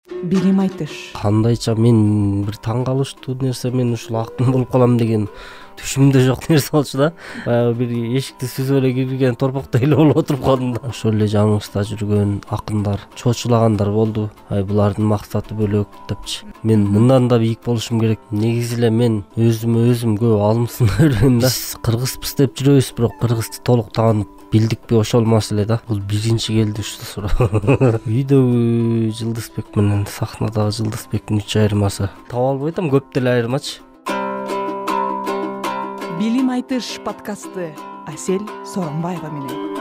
билим айтыш. Кандайча мен бир таң калыштуу нерсе, мен ушул актын болуп калам деген түшүмдө жок нерсе болчу да. Баягы бир эшикти сүзүп эле кирген торпоктой эле болуп отуруп калдым да. Ошол эле жаныбызда жүргөн акындар, чоочулагандар болду. Булардын максаты бөлөк депчи. Мен мындан да бийик болушум керек. Негизи эле мен өзүм көп алымсынырмын да. Биз кыргызбыз деп жүрөбүз, бирок кыргызды толук таанып билдикпи, ошол маселе да. Бул биринчи келди ушул суроо. Үйдөгү Жылдызбек менен сахнадагы Жылдызбектин 3 айырмасы. Таба албай атам, көп деле айырмачы. Билим айтыш подкасты Асель Сооронбаева менен.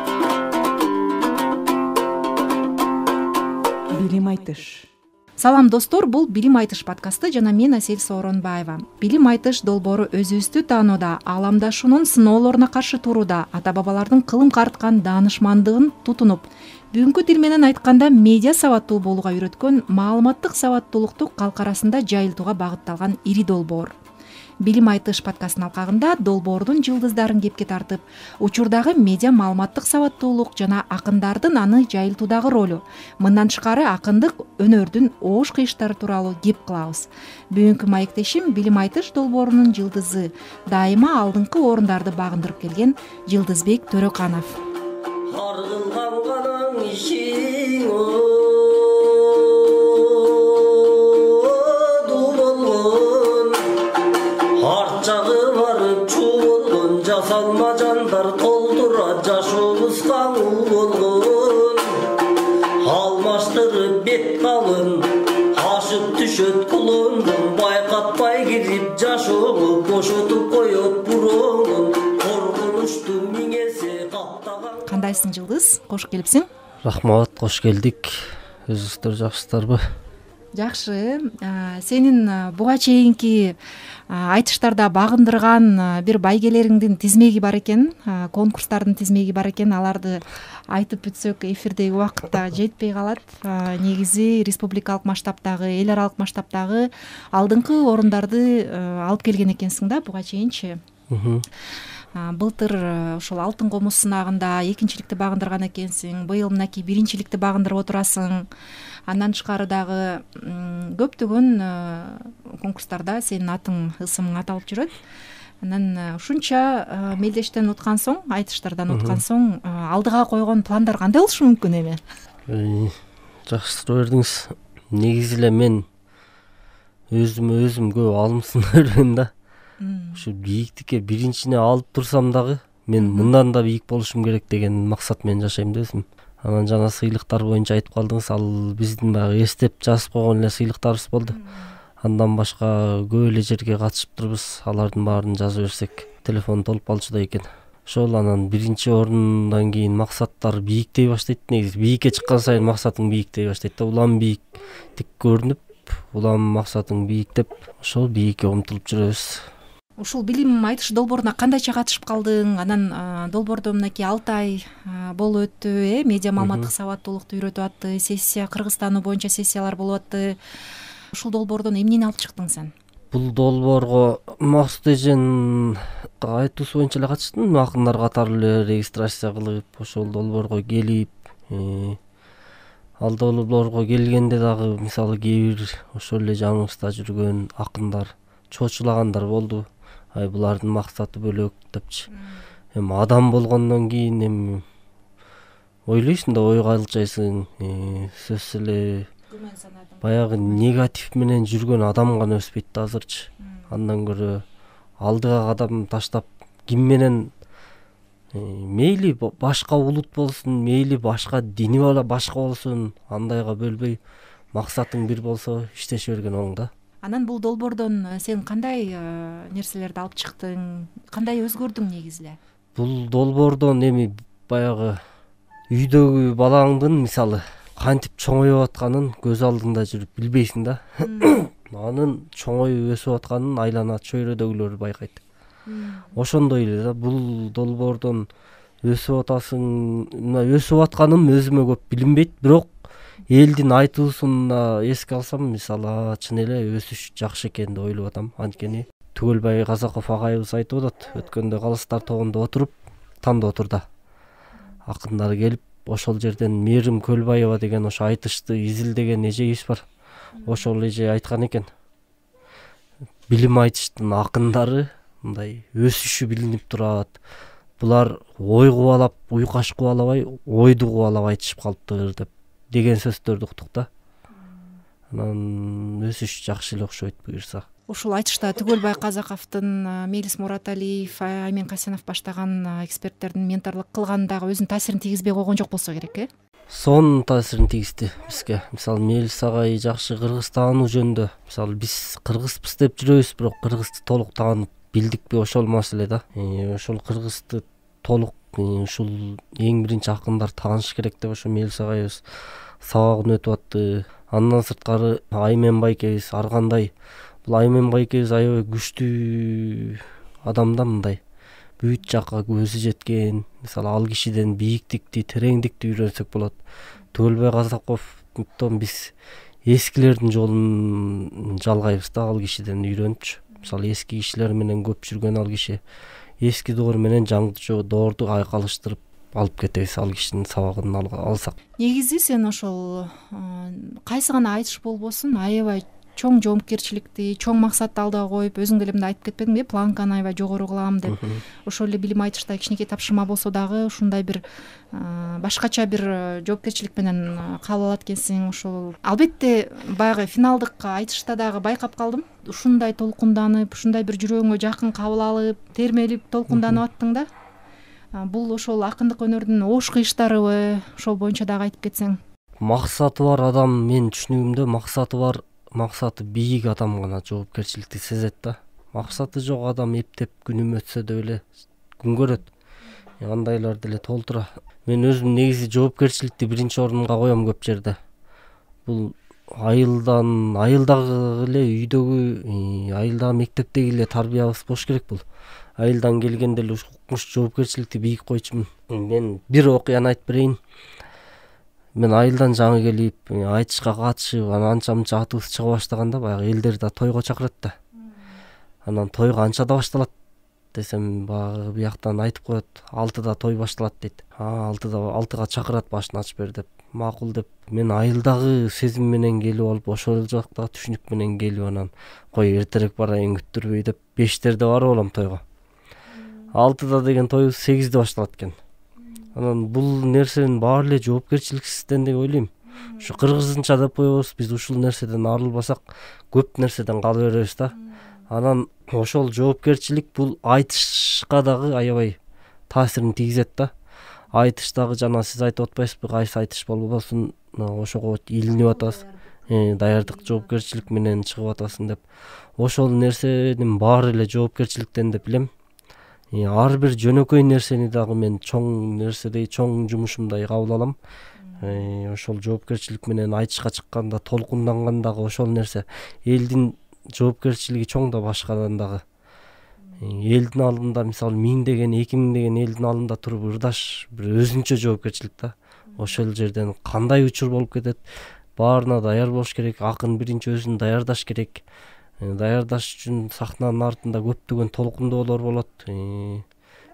Билим айтыш. Салам достор, бул Билим айтыш подкасты жана мен Асель Сооронбаева. Билим айтыш долбоору өзүбүздү таанууда, ааламдашуунун сыноолоруна каршы турууда, ата-бабалардын кылым карыткан даанышмандыгын тутунуп, бүгүнкү тил менен айтканда медиа сабаттуу болууга үйрөткөн маалыматтык сабаттуулукту калк арасында жайылтууга багытталган ири долбоор. Билим айтыш подкастынын алкагында долбоордун жылдыздарын кепке тартып, учурдагы медиа маалыматтык сабаттуулук жана акындардын аны жайылтуудагы ролу, мындан тышкары акындык өнөрдүн оош кыйыштары тууралуу кеп кылабыз. Бүгүнкү маектешим Билим айтыш долбоорунун жылдызы, дайыма алдыңкы орундарды багындырып келген Жылдызбек Төрөканов. Жасалма жандар толтура жашообузга болгон, алмаштырып бет калын ашып түшөт кулондон, байкатпай кирип жашоого бошотуп коет буроонун, коркунучту миңесе каптаган. Кандайсың Жылдыз? Кош келипсиң. Рахмат, кош келдик. Өзүңүздөр жакшысыздарбы? Жакшы. Сенин буга чейинки айтыштарда багындырган бир байгелериңдин тизмеги бар экен, конкурстардын тизмеги бар экен. Аларды айтып бүтсөк эфирдеги убакытта жетпей калат. Негизи республикалык масштабтагы, эл аралык масштабтагы алдыңкы орундарды алып келген экенсиң да буга чейинчи. Былтыр ошол Алтын комуз сынагында экинчиликти багындырган экенсиң. Быйыл мынакей биринчиликти багындырып отурасың. Андан тышкары дагы көптөгөн конкурстарда сенин атың, ысымың аталып жүрөт. Анан ушунча мелдештен уткан соң, айтыштардан уткан соң, алдыга койгон пландар кандай болушу мүмкүн эми? Жакшы суроо бердиңиз. Негизи эле мен өзүм көп алымсынырмын да. Ушу бийиктикке биринчине алып турсам дагы мен мындан да бийик болушум керек деген максат менен жашайм да өзүм. Анан жана сыйлыктар боюнча айтып калдыңыз, ал биздин баягы эстеп жазып койгон эле сыйлыктарыбыз болду. Андан башка көп эле жерге катышып турбуз, алардын баарын жаза берсек телефон толуп калчудай экен. Ошол анан биринчи орундан кийин максаттар бийиктей баштайт. Негизи бийикке чыккан сайын максатың бийиктей баштайт да. Улам бийиктик көрүнүп, улам максатың бийиктеп, ошол бийикке умтулуп жүрөбүз. Ушул Билим айтыш долбооруна кандайча катышып калдың? Анан долбоордо мынакей 6 ай болуп өттү, медиа маалыматтык сабаттуулукту үйрөтүп атты, сессия, Кыргызстануу боюнча сессиялар болуп атты. Ушул долбоордон эмнени алып чыктың сен? Бул долбоорго Максут эжен айтуусу боюнча эле катыштым. Акындар катары эле регистрация кылып, ошол долбоорго келип, ал долбоорго келгенде дагы мисалы кээ бир ошол эле жаныбызда жүргөн акындар, чоочулагандар болду. Булардын максаты бөлөк депчи. Эми адам болгондон кийин эми ойлойсуң да, ойго алчайсың. Сөзсүз эле баягы негатив менен жүргөн адам гана өспөйт да азырчы. Андан көрө алдыга кадам таштап, ким менен мейли башка улут болсун, мейли башка дини башка болсун, андайга бөлбөй максатың бир болсо иштеше берген оң да. Анан бул долбоордон сен кандай нерселерди алып чыктың? Кандай өзгөрдүң негизи эле? Бул долбоордон эми баягы үйдөгү балаңдын мисалы кантип чоңоюп атканын көз алдыңда жүрүп билбейсиң да. Анын чоңоюп өсүп атканын айлана чөйрөдөгүлөр байкайт. Ошондой эле да, бул долбоордон өсүп атасың, өсүп атканым өзүмө көп билинбейт, бирок элдин айтуусуна эске алсам, мисалы, чын эле өсүш жакшы экен деп ойлоп атам. Анткени Түгөлбай Казаков агайыбыз айтып атат, өткөндө Калыстар тогунда отуруп, танда отурда акындар келип, ошол жерден Мээрим Көлбаева деген ошо айтышты изилдеген эжебиз бар. ошол эже айткан экен, билим айтыштын акындары мындай өсүшү билинип турат. Булар ой кубалап, уйкаш кубалабай, ойду кубалап айтышып калыптыр деген сөздөрдү уктук да. Анан өсүш жакшы эле окшойт буюрса. Ушул айтышта Түгөлбай Казаковдун, Мелис Мураталиев, Аймен Касенов баштаган эксперттердин менторлук кылганы дагы өзүнүн таасирин тийгизбей койгон жок болсо керек, Сонун таасирин тийгизди бизге. Мисалы Мелис агай жакшы кыргыз таануу жөнүндө, мисалы биз кыргызбыз деп жүрөбүз, бирок кыргызды толук таанып билдикпи, ошол маселе да. Ошол кыргызды толук ушул эң биринчи акындар тааныш керек деп ошо Мелис агайыбыз сабагын өтүп атты. Андан сырткары Аймен байкебиз ар кандай. Бул Аймен байкебиз аябай күчтүү адам да, мындай бүт жакка көзү жеткен. Мисалы ал кишиден бийиктикти, тереңдикти үйрөнсөк болот. Түгөлбай Казаковдон биз эскилердин жолун жалгайбыз да, ал кишиден үйрөнүпчү. Мисалы эски кишилер менен көп жүргөн ал киши эски доор менен жаңы доорду айкалыштырып алып кетебиз, ал кишинин сабагын алсак. Негизи сен ошол кайсы гана айтыш болбосун аябай чоң жоопкерчиликти, чоң максатты алдыга коюп, өзүң деле мындай айтып кетпедиңби, планканы аябай жогору кылам деп. Ошол эле билим айтышта кичинекей тапшырма болсо дагы ушундай бир башкача бир жоопкерчилик менен кабыл алат экенсиң. Ошол албетте баягы финалдык айтышта дагы байкап калдым. Ушундай толкунданып, ушундай бир жүрөгүңө жакын кабыл алып, термелип, толкунданып аттың да. Бул ошол акындык өнөрдүн ош кыйыштарыбы? Ошол боюнча дагы айтып кетсең. Максаты бар адам, мен түшүнүгүмдө максаты бийик адам гана жоопкерчиликти сезет да. Максаты жок адам эптеп күнүм өтсө деп эле күн көрөт. Андайлар деле толтура. Мен өзүм негизи жоопкерчиликти биринчи орунга коем көп жерде. Бул айылдагы эле үйдөгү, айылдагы мектептеги эле тарбиябыз болуш керек бул. Айылдан келгенде эле укмуш жоопкерчиликти бийик койчумун. Мен бир окуяны айтып берейин. Мен айылдан жаңы келип, айтышка катышып, анан анча-мынча атыбыз чыга баштаганда баягы элдер да тойго чакырат да. Анан той канчада башталат десем, баягы бияктан айтып коет, 6-да той башталат дейт. 6-га чакырат, башын ачып бер деп. Макул деп, мен айылдагы сезим менен келип алып, ошол жактагы түшүнүк менен келип, анан кой эртерээк барайын күттүрбөй деп 5-терде барып алам тойго. 6-да деген тойубуз 8-де башталат экен. Анан бул нерсенин баары эле жоопкерчиликсизден деп ойлойм. Ушу кыргызча деп коебуз, биз ушул нерседен арылбасак көп нерседен кала беребиз да. Анан ошол жоопкерчилик бул айтышка дагы аябай таасирин тийгизет да. Айтыштагы жана сиз айтып атпайсызбы, кайсы айтыш болбосун ошого илинип атасыз. Даярдык жоопкерчилик менен чыгып атасың деп. Ошол нерсенин баары эле жоопкерчиликтен деп билем. Ар бир жөнөкөй нерсени дагы мен чоң нерседей, чоң жумушумдай кабыл алам. Ошол жоопкерчилик менен айтышка чыкканда, толкундангандагы ошол нерсе. Элдин жоопкерчилиги чоң да башкадан дагы. Элдин алдында мисалы 1000 деген, 2000 деген элдин алдында туруп ырдаш бир өзүнчө жоопкерчилик да. Ошол жерден кандай учур болуп кетет, баарына даяр болуш керек. Акын биринчи өзүн даярдаш керек. Даярдаш үчүн сахнанын артында көптөгөн толкундоолор болот,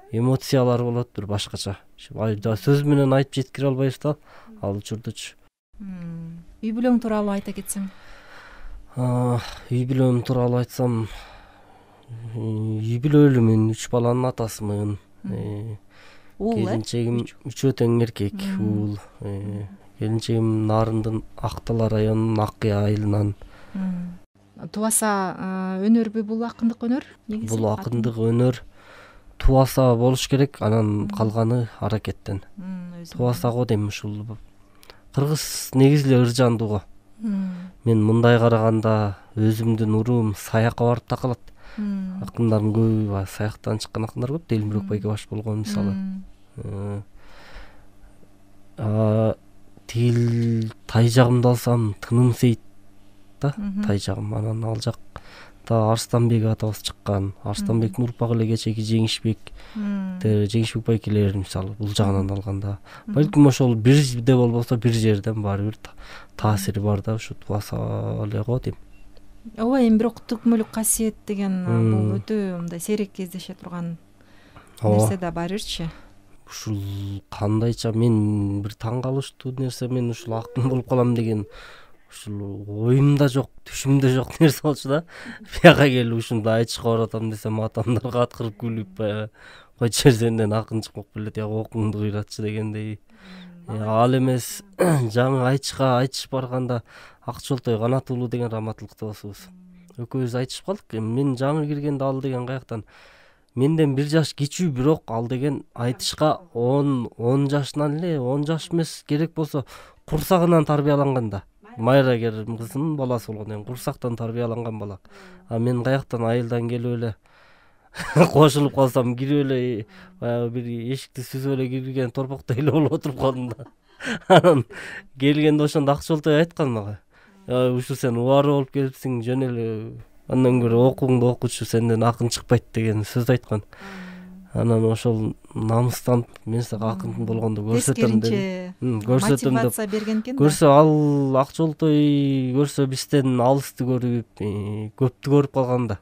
эмоциялар болот, бир башкача. Сөз менен айтып жеткире албайбыз да, ал учурдучу. Үй бүлөң тууралуу айта кетсең. Үй бүлөм тууралуу айтсам, үй бүлөлүүмүн, 3 баланын атасымын. Келинчегим 3 тең эркек, уул. Келинчегим Нарындын Актала районунун Аккыя айылынан. Тубаса өнөрбү бул акындык өнөр? Бул акындык өнөр тубаса болуш керек, анан калганы аракеттен. Тубаса го дейм, ушул кыргыз негизи эле ыржандуу го. Мен мындай караганда өзүмдүн уруум саякка барып такалат. Акындардын көбү саяктан чыккан акындар көп, Делимбирок байке баш болгон мисалы. Тил тай жагымды алсам, Тыным Сейит да, тай жагым. Анан ал жакта Арстанбек атабыз чыккан. Арстанбектин урпагы эле кечеги Жеңишбек байкелер мисалы бул жагынан алганда. Балким ошол бирде болбосо бир жерден баары бир таасири бар да, ушу тубаса эле го дейм. Ооба, эми бирок түкмөлүк касиет деген бул өтө мындай сейрек кездеше турган нерсе да барырчы. Ушул кандайча мен бир таң калыштуу нерсе, мен ушул акын болуп калам деген ушул оюмда жок, түшүмдө жок нерсе болчу да. Бияка келип ушунду айтышка баратам десем, атамдар каткырып күлүп, баягы койчу сенден акын чыкпак белет, я окуңду кыйратчы дегендей. Ал эмес жаңы айтыш барганда Акчолтой Канат уулу деген раматылыкта болсубуз. Экөөбүз айтышып калдык. Мен жаңы киргенде ал деген каяктан менден 1 жаш кичүү, бирок ал деген айтышка 10 жашынан эле, 10 жаш эмес, керек болсо курсагынан тарбияланган да. Майра Керим кызынын баласы болгондон кийин курсактан тарбияланган бала. А мен каяктан айылдан келип эле кошулуп калсам, кирип эле баягы бир эшикти сүзүп эле кирген торпоктой эле болуп отуруп калдым да. Анан келгенде ошондо Акчолтой айткан мага: "Ушу сен убары болуп келипсиң, жөн эле андан көрө окууңду окучу, сенден акын чыкпайт" деген сөз айткан. Анан ошол намыстанып, мен сага акын болгондо көрсөтөм деп, мотивация берген экен да. Көрсө ал Акчолтой көрсө бизден алысты көрүп, көптү көрүп калган да.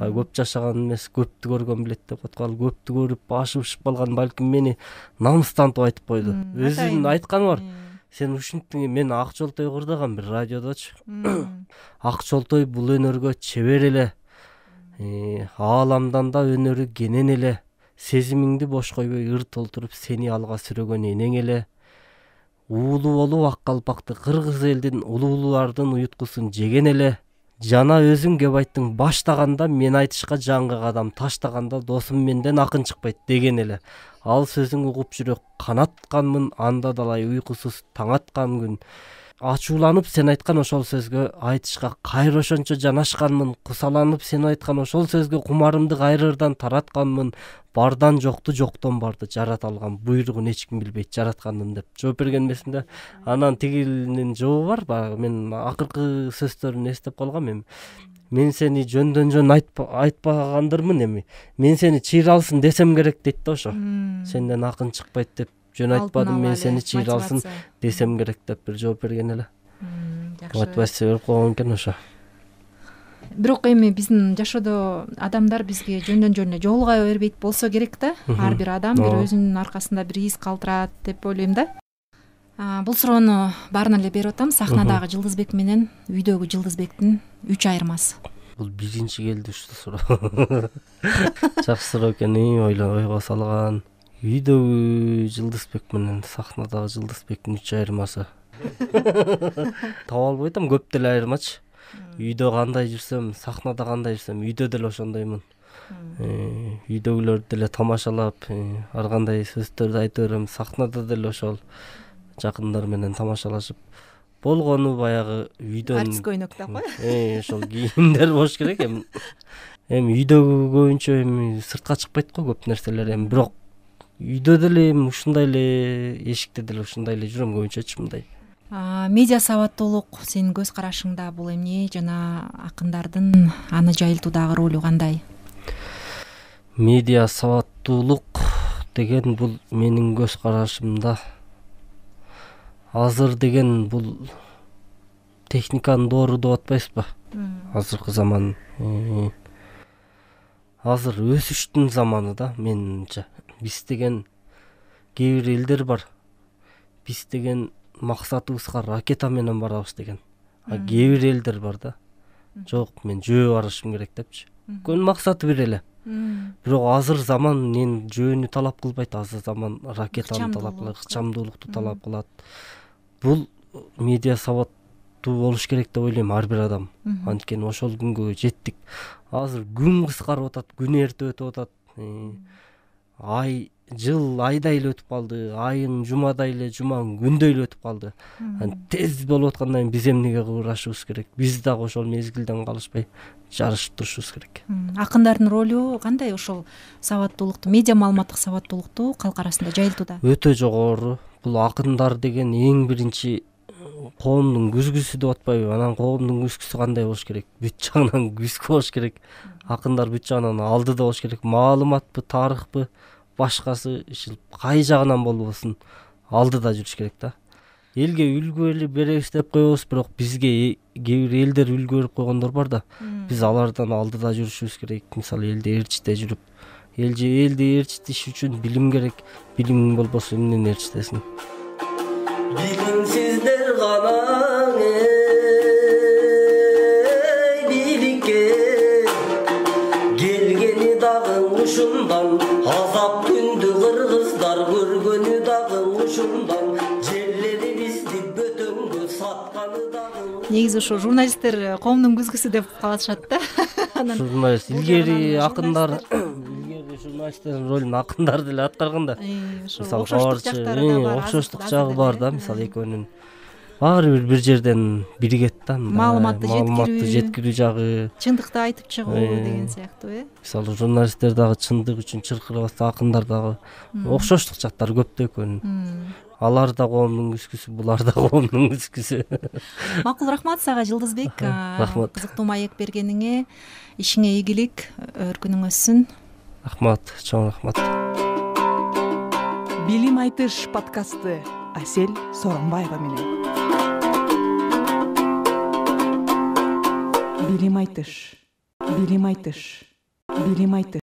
Көп жашаган эмес, көптү көргөн билет деп аткан. Көптү көрүп башы ушуп калган, балким мени намыстантып айтып койду. Өзүнүн айтканы бар. Сен ушинттиң, мен Акчолтой кырдагам бир радиодочу. Акчолтой бул өнөргө чебер эле. Ааламдан да өнөрү кенен эле. Сезимиңди бош койбой ыр толтуруп сени алга сүрөгөн энең эле. Уулу болуп ак калпакты кыргыз элдин улуулардын уюткусун жеген эле. Жана өзүң кеп айттың, баштаганда мен айтышка жаңгы кадам таштаганда досум менден акын чыкпайт деген эле. Ал сөзүң угуп жүрөк канатканмын, анда далай уйкусуз таң аткан күн. Ачууланып сен айткан ошол сөзгө айтышка кайра ошончо жанашканмын. Кусаланып сен айткан ошол сөзгө кумарымды кайрырдан таратканмын. Бардан жокту, жоктон барды жарата алган, буйругун эч ким билбейт жараткандын деп жооп берген эмесмин. Анан тигилинин жообу бар, баягы мен акыркы сөздөрүн эстеп калгам. Мен сени жөндөн жөн айтпагандырмын эми. Мен сени чыйралсын десем керек дейт да ошо. Сенден акын чыкпайт деп жөн айтпадым, мен сени чыйралсын десем керек деп бир жооп берген эле. Мотивация берип койгон экен ошо. Бирок эми биздин жашоодо адамдар бизге жөндөн жөн эле жолуга бербейт болсо керек да. Ар бир адам бир өзүнүн аркасында бир из калтырат деп ойлойм да. Бул суроону баарына эле берип атам. Сахнадагы Жылдызбек менен үйдөгү Жылдызбектин 3 айырмасы. Бул биринчи келди ушул суроо. Жакшы суроо экен, ойго салган. Үйдөгү Жылдызбек менен сахнадагы Жылдызбектин 3 айырмасы. Таба албай атам, көп деле айырмачы. Үйдө кандай жүрсөм, сахнада кандай жүрсөм, үйдө деле ошондоймун. Үйдөгүлөрдү деле тамашалап, ар кандай сөздөрдү айта берем. Сахнада деле ошол жакындар менен тамашалашып болгону баягы үйдөн артист көйнөк да кой. Ошол кийимдер болуш керек эми. Үйдөгү көбүнчө эми сыртка чыкпайт го көп нерселер эми, бирок үйдө деле эми ушундай эле, эшикте деле ушундай эле жүрөм көбүнчөчү мындай. Медиа сабаттуулук сенин көз карашыңда бул эмне жана акындардын аны жайылтуудагы ролу кандай? Медиа сабаттуулук деген бул менин көз карашымда азыр деген бул техниканын доору деп атпайсызбы? Азыркы заман азыр өсүштүн заманы да менимче. Биз деген кээ бир элдер бар. Биз деген максатыбызга ракета менен барабыз деген. Кээ бир элдер бар да. Жок, мен жөө барышым керек депчи. Көн максаты бир эле. Бирок азыр заман мен жөөнү талап кылбайт, азыр заман ракетаны талап кылат, ыкчамдуулукту талап кылат. Бул медиа сабаттуу болуш керек деп ойлойм ар бир адам. Анткени ошол күнгө жеттик. Азыр күн кыскарып атат, күн эрте өтүп атат. Ай, жыл айдай эле өтүп калды, айың жумадай эле, жумаң күндөй эле өтүп калды. Тез болуп аткандан кийин биз эмнеге кыбырашыбыз керек? Биз дагы ошол мезгилден калышпай жарышып турушубуз керек. Акындардын ролу кандай ошол сабаттуулукту, медиа маалыматтык сабаттуулукту калк арасында жайылтууда? Өтө жогору. Бул акындар деген эң биринчи коомдун күзгүсү деп атпайбы? Анан коомдун күзгүсү кандай болуш керек? Бүт жагынан күзгү болуш керек. Акындар бүт жагынан алдыда болуш керек. Маалыматпы, тарыхпы, башкасы кай жагынан болбосун алдыда жүрүш керек да. Элге үлгү беребиз деп коебуз, бирок бизге кээ бир элдер үлгү берип койгондор бар да. Биз алардан алдыда жүрүшүбүз керек. Мисалы элди ээрчите жүрүп, элди ээрчитиш үчүн билим керек. Билимиң болбосо эмнени ээрчитесиң? Билимсиздер гана негизи ошо журналисттер коомдун күзгүсү деп калышат да. Журналист илгери акындар, илгери журналисттердин ролун акындар деле аткарган да. Ошо окшоштук жактары да бар. Окшоштук жагы бар да. Мисалы экөөнүн баары бир жерден биригет да. Маалыматты жеткирүү жагы, чындыкты айтып чыгуу деген сыяктуу Мисалы журналисттер дагы чындык үчүн чыркырабатса, акындар дагы окшоштук жактары көп да экөөнүн. Алар да коомдун күзгүсү, булар да коомдун күзгүсү. Макул, рахмат сага Жылдызбек. Рахмат. Кызыктуу маек бергениңе, ишиңе ийгилик, өркүнүң өссүн. Рахмат, чоң рахмат. Билим айтыш подкасты Асель Сооронбаева менен. Билим айтыш. Билим айтыш. Билим айтыш.